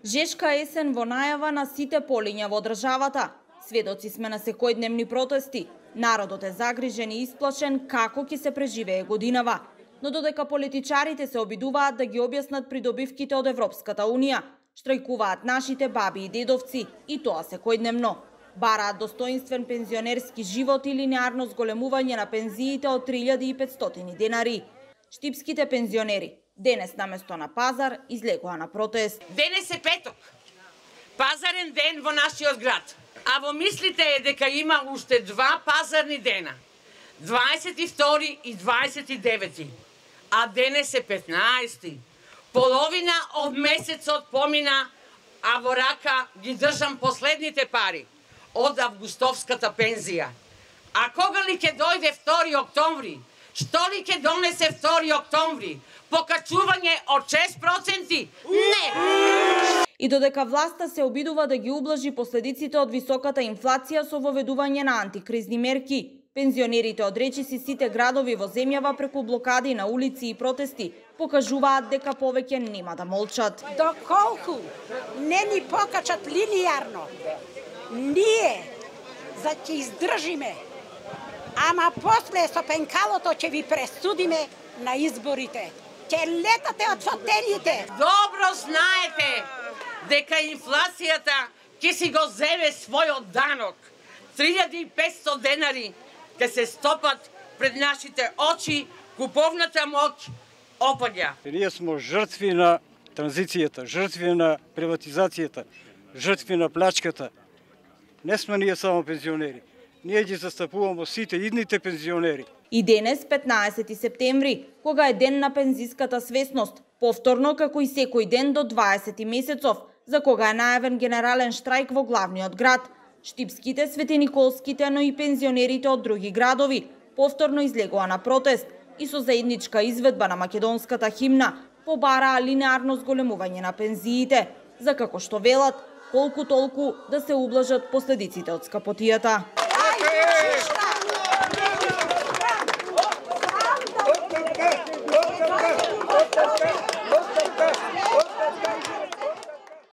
Жешка есен во најава на сите полиња во државата. Сведоци сме на секојдневни протести. Народот е загрижен и исплашен како ќе се преживее годинава. Но додека политичарите се обидуваат да ги објаснат придобивките од Европската Унија, штрајкуваат нашите баби и дедовци, и тоа секојдневно. Бараат достоинствен пензионерски живот и линеарно зголемување на пензиите од 3500 денари. Штипските пензионери денес наместо на пазар излегоа на протест. Денес е петок, пазарен ден во нашиот град. А во мислите е дека има уште два пазарни дена, 22 и 29. А денес е 15. Половина од месецот помина, а во рака ги држам последните пари од августовската пензија. А кога ли ќе дојде 2 октомври? Што ли ќе донесе 2 октомври? Покачување од 6%? Не! И додека власта се обидува да ги ублажи последиците од високата инфлација со воведување на антикризни мерки, пензионерите од речиси сите градови во земјава преку блокади на улици и протести покажуваат дека повеќе нема да молчат. Доколку не ни покачат линијарно, ние ќе издржиме, ама после со пенкалото ќе ви пресудиме на изборите. Ќе летате од фотелите. Добро знаете дека инфлацијата ќе си го земе својот данок. 3500 денари ќе се стопат пред нашите очи, куповната моќ опаѓа. Ние сме жртви на транзицијата, жртви на приватизацијата, жртви на плачката. Не сме ние само пензионери. Ние ги застапуваме сите идните пензионери. И денес, 15 септември, кога е ден на пензиската свесност, повторно како и секој ден до 20 месецов, за кога е најавен генерален штрајк во главниот град. Штипските, светениколските, но и пензионерите од други градови повторно излегоа на протест и со заедничка изведба на македонската химна побараа линеарно зголемување на пензиите, за како што велат, колку толку да се ублажат последиците од скапотијата.